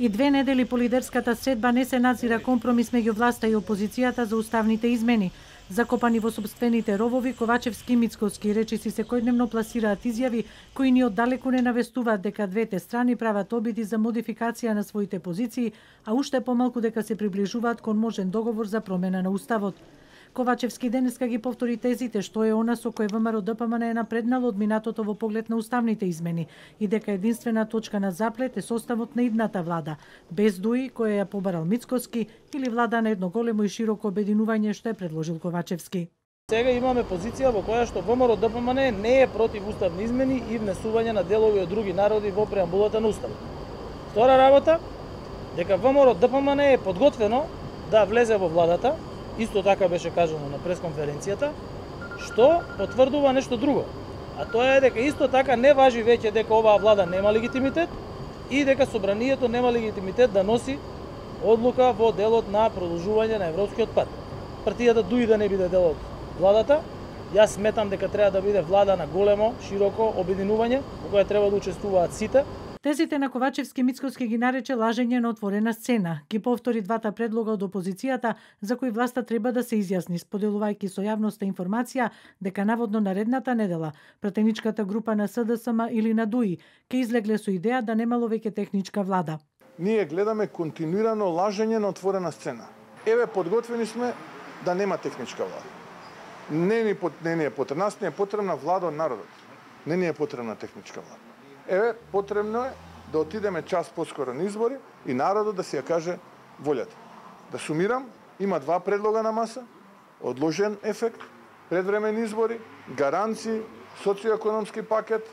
И 2 недели по лидерската средба не се назира компромис меѓу власта и опозицијата за уставните измени. Закопани во собствените ровови, Ковачевски и Мицкоски речиси секојдневно пласираат изјави кои ни оддалеку не навестуваат дека двете страни прават обиди за модификација на своите позиции, а уште помалку дека се приближуваат кон можен договор за промена на уставот. Ковачевски денеска ги повтори тезите што е она со кој ВМРО ДПМН е напреднало од минатото во поглед на уставните измени и дека единствена точка на заплет е составот на идната влада, без ДУИ која ја побарал Мицкоски или влада на едно големо и широко обединување што е предложил Ковачевски. Сега имаме позиција во која што ВМРО ДПМН не е против уставни измени и внесување на делови од други народи во преамбулата на уставот. Втора работа, дека ВМРО ДПМН е подготвено да влезе во владата. Исто така беше кажано на пресконференцијата, што потврдува нешто друго. А тоа е дека исто така не важи веќе дека оваа влада нема легитимитет и дека собранието нема легитимитет да носи одлука во делот на продолжување на европскиот пат. Партијата ДУИ да не биде дел од владата, јас сметам дека треба да биде влада на големо, широко обединување во која треба да учествуваат сите. Тезите на Ковачевски Мицкоски ги нарече лажење на отворена сцена. Ги повтори двата предлога од опозицијата за кои власта треба да се изјасни, споделувајќи со јавноста информација дека наводно наредната недела пратеничката група на СДСМ или на ДУИ ќе излегле со идеја да немало веќе техничка влада. Ние гледаме континуирано лажење на отворена сцена. Еве, подготвени сме да нема техничка влада. Не ни е потребна, нас не е потребна влада од народот. Не ни е потребна техничка влада. Еве, потребно е да отидеме час поскоро на избори и народот да си ја каже волјата. Да сумирам, има два предлога на маса, одложен ефект, предвремени избори, гаранции, социоекономски пакет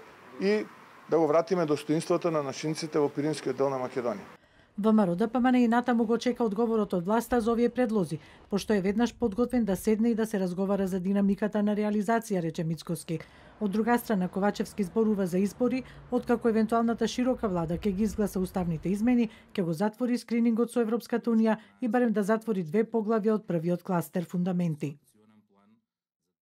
и да го вратиме достоинството на нашинците во Пиринскиот дел на Македонија. ВМРО ДПМН и натаму го чека одговорот од власта за овие предлози, пошто е веднаш подготвен да седне и да се разговара за динамиката на реализација, рече Мицкоски. Од друга страна, Ковачевски зборува за избори, откако евентуалната широка влада ќе ги изгласа уставните измени, ќе го затвори скринингот со Европската унија и барем да затвори 2 поглавја од првиот кластер фундаменти.